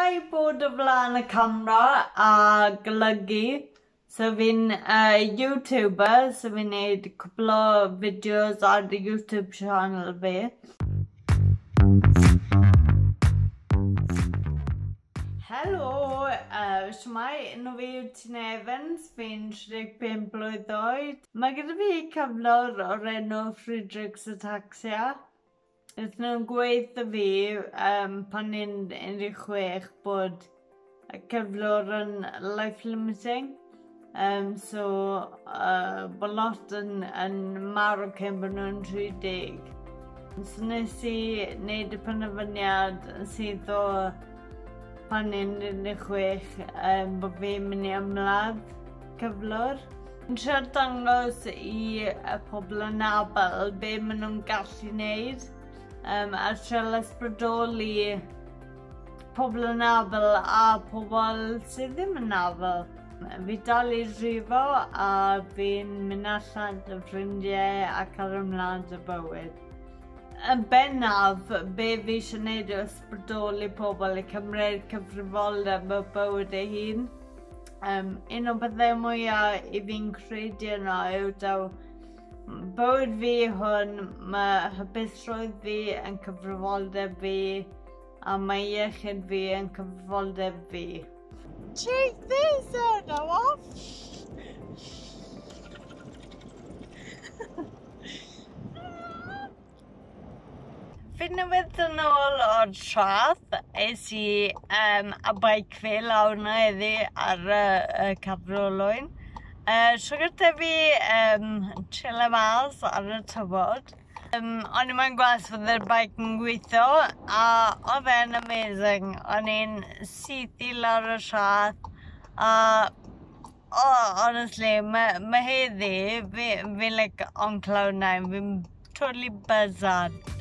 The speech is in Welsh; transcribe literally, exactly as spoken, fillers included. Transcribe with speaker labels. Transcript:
Speaker 1: Mwynhau bod o flaen y camera a golygu. So fi'n uh, YouTuber, so fi'n neud cwpl o fideos ar y YouTube channel fi. Helo, uh, shwmae, enw fi yw Tina Evans, fi'n tri deg pump blwydd oed. Mae gyda fi cyflwr o'r enw Friedreich's Ataxia. Wnaethon nhw'n gweud wrtho fi um, pan ni'n un deg chwech bod y cyflwr yn life limiting. Um, so, uh, bod lot yn, yn marw cyn bod nhw'n tri deg. So nes i wneud y penderfyniad sydd o pan ni'n un deg chwech um, bod fi'n mynd i ymladd cyflwr. Yn trio dangos i y pobl anabl be maen nhw'n gallu wneud. Um, a trio ysbrydoli pobl anabl a pobl sydd ddim yn anabl. Fi dal i drifo a fi'n mynd allan â ffrindiau ac ar ymlaen y bywyd. Yn bennaf, be fi eisiau gwneud yw ysbrydoli pobl i cymryd cyfrifoldeb y bywyd ei hun. Um, un o'r pethau mwyaf i fi'n credu yno yw daw bywyd fi hwn, mae hapusrwydd fi yn cyfrifoldeb fi a mae iechyd fi yn cyfrifoldeb fi.
Speaker 2: Take this out now off!
Speaker 1: Fi newydd yn ôl o'r traeth, es i um, a bike fi lawr na heddi ar y, y Cafr Olwyn. Uh, tro gyda fi um, chillo mas ar y tywod. Um, o'n i'n gweld fod yr bike yn gweithio a oedd e'n amazing. O'n i'n syth i lawr y traeth a oh, honestly, mae ma heddi, fi'n fi like on cloud nine, fi'n totally buzzed.